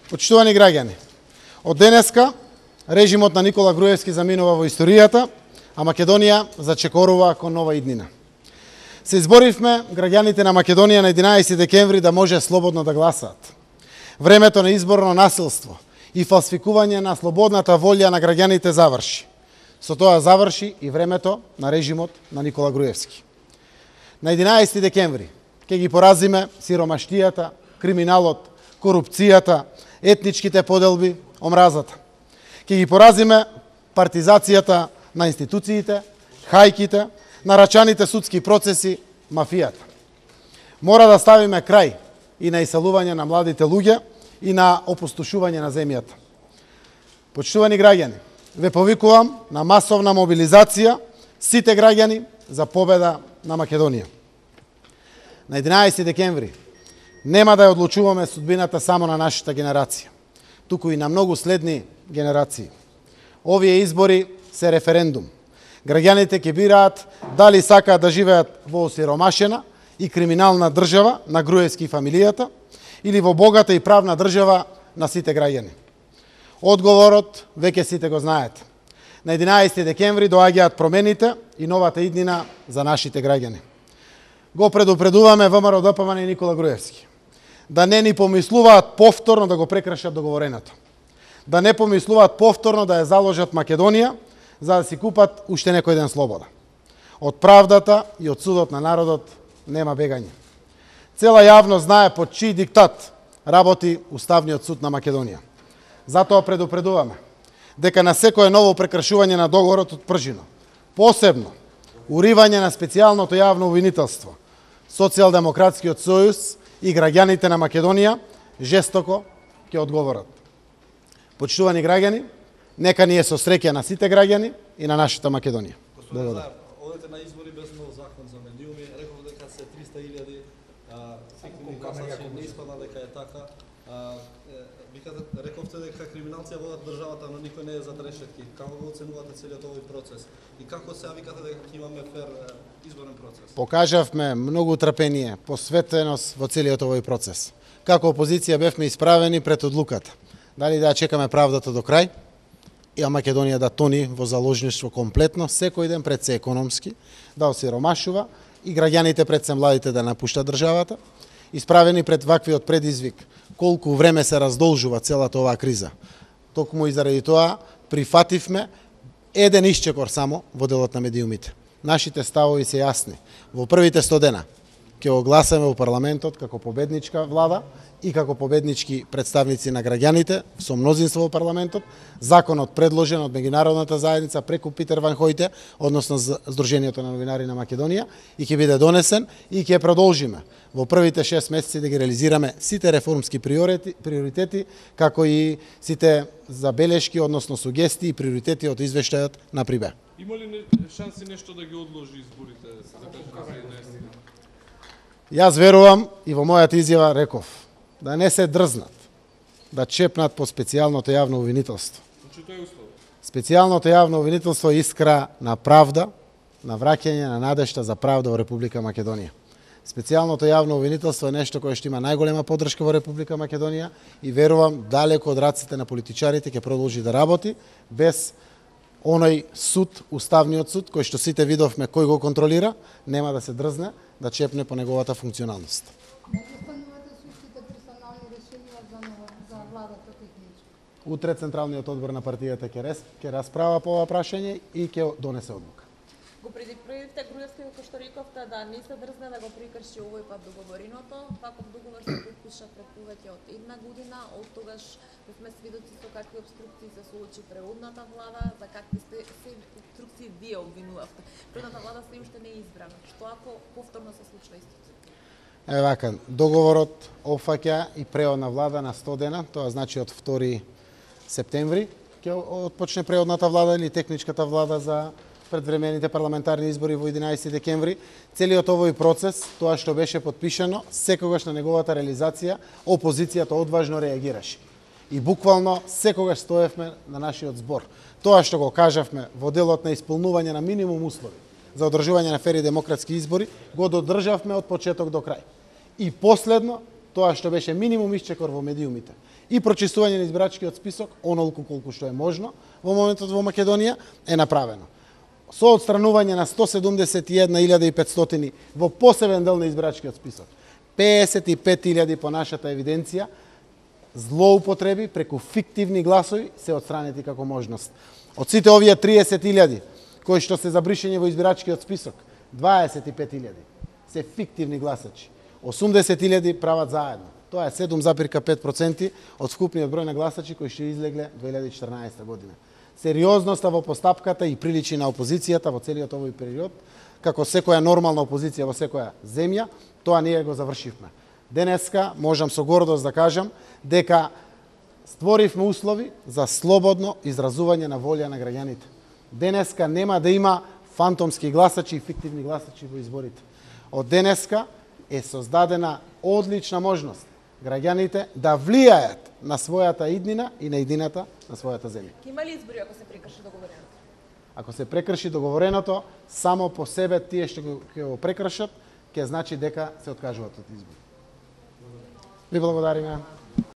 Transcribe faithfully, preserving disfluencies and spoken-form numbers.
Почитувани граѓани, од денеска режимот на Никола Груевски заминува во историјата, а Македонија зачекорува кон нова иднина. Се изборивме граѓаните на Македонија на единаесети декември да може слободно да гласаат. Времето на изборно насилство и фалсификување на слободната волја на граѓаните заврши. Со тоа заврши и времето на режимот на Никола Груевски. На единаесети декември ќе ги поразиме сиромаштијата, криминалот, корупцијата, етничките поделби, омразата. Ќе ги поразиме партизацијата на институциите, хајките, нарачаните судски процеси, мафијата. Мора да ставиме крај и на иселување на младите луѓе и на опустошување на земјата. Почитувани граѓани, ве повикувам на масовна мобилизација сите граѓани за победа на Македонија. На единаесети декември нема да ја одлучуваме судбината само на нашата генерација, туку и на многу следни генерации. Овие избори се референдум. Граѓаните ќе бираат дали сакаат да живеат во осиромашена и криминална држава на Груевски и фамилијата или во богата и правна држава на сите граѓани. Одговорот веќе сите го знаете. На единаесети декември доаѓаат промените и новата иднина за нашите граѓани. Го предупредуваме ВМРО Д П В Н и Никола Груевски да не ни помислуваат повторно да го прекршат договореното. Да не помислуваат повторно да ја заложат Македонија за да си купат уште некој ден слобода. Од правдата и од судот на народот нема бегање. Цела јавност знае под чиј диктат работи Уставниот суд на Македонија. Затоа предупредуваме дека на секое ново прекршување на договорот од Пржино, посебно уривање на специјалното јавно обвинителство, Социјалдемократскиот сојуз и граѓаните на Македонија жестоко ќе одговорат. Почитувани граѓани, нека ни е со среќа на сите граѓани и на нашата Македонија. Благодарам. Одете на избори без нов закон за медиуми, реков дека се триста илјади, фиктивни гласачи, не испадна дека е така. Викате, рековте дека криминалци ја водат државата, но никој не е зад решетки. Како го оценувате целиот овој процес? И како сега викате дека ќе имаме фер изборен процес? Покажавме многу трпение, посветеност во целиот овој процес. Како опозиција бевме исправени пред одлуката. Дали да чекаме правдата до крај, и Македонија да тони во заложништво комплетно, секој ден пред се економски, да осиромашува и граѓаните пред се младите да напуштат државата, исправени пред ваквиот предизвик, колку време се раздолжува целата оваа криза. Токму и заради тоа прифативме еден исчекор само во делот на медиумите. Нашите ставови се јасни. Во првите сто дена ќе го гласаме во парламентот како победничка влада и како победнички представници на граѓаните со мнозинство во парламентот. Законот предложен од меѓународната заедница преку Питер Ван Хојте, односно Сдруженијето на новинари на Македонија, и ќе биде донесен и ќе продолжиме во првите шест месеци да ги реализираме сите реформски приоритети, како и сите забелешки, односно сугестии и приоритети од извештајот на Прибе. Има ли шанси нешто да ги одложи изборите за единаесети? Јас верувам и во мојата изјава реков да не се дрзнат, да чепнат по специјалното јавно обвинителство. Значи тоа е услов. Специјалното јавно обвинителство е искра на правда, на враќање на надежта за правда во Република Македонија. Специјалното јавно обвинителство е нешто кое што има најголема поддршка во Република Македонија и верувам далеко од раците на политичарите ќе продолжи да работи без оној суд, Уставниот суд, кој што сите видовме кој го контролира, нема да се дрзне да чепне по неговата функционалност. Утре Централниот одбор на партијата ќе расправа по ова прашање и ќе донесе одлука. Го предупредивте Груевски како што рековте да не се дрзне да го прекрши овој пат договореното. Ваков договор се подпиша пред повеќе од една година, од тогаш сме свидоци со какви обструкции се соочи предходната влада, за какви се обструкции вие обвинувавте. Предходната влада се уште не е избрана. Што ако повторно се случува истото? Е вака, договорот опфаќа и преодна влада на сто дена, тоа значи од втори септември ќе отпочне преодната влада или техничката влада за предвремените парламентарни избори во единаесети декември. Целиот овој процес, тоа што беше подпишано, секогаш на неговата реализација опозицијата одважно реагираше. И буквално секогаш стоевме на нашиот збор. Тоа што го кажавме во делот на исполнување на минимум услови за одржување на фер и демократски избори, го додржавме од почеток до крај. И последно, тоа што беше минимум исчекор во медиумите и прочистување на избирачкиот список, онолку колку што е можно во моментот во Македонија, е направено. Со отстранување на сто седумдесет и една илјада и петстотини во посебен дел на избирачкиот список, песет и пет илјади по нашата евиденција, злоупотреби преку фиктивни гласови се отстранети како можност. Од сите овие триесет илјади кои што се за бришење во избирачкиот список, дваесет и пет илјади се фиктивни гласачи, осумдесет илјади прават заедно. Тоа е седум запирка пет проценти од вкупниот број на гласачи кои што излегле две илјади и четрнаесета година. Сериозноста во постапката и приличи на опозицијата во целиот овој период, како секоја нормална опозиција во секоја земја, тоа ние го завршивме. Денеска можам со гордост да кажам дека створивме услови за слободно изразување на волја на граѓаните. Денеска нема да има фантомски гласачи и фиктивни гласачи во изборите. Од денеска е создадена одлична можност граѓаните да влијаат на својата иднина и на иднината на својата земја. Има ли избори ако се прекрши договореното? Ако се прекрши договореното, само по себе тие што го, го прекршат, ќе значи дека се откажуваат од избори. Ви благодариме.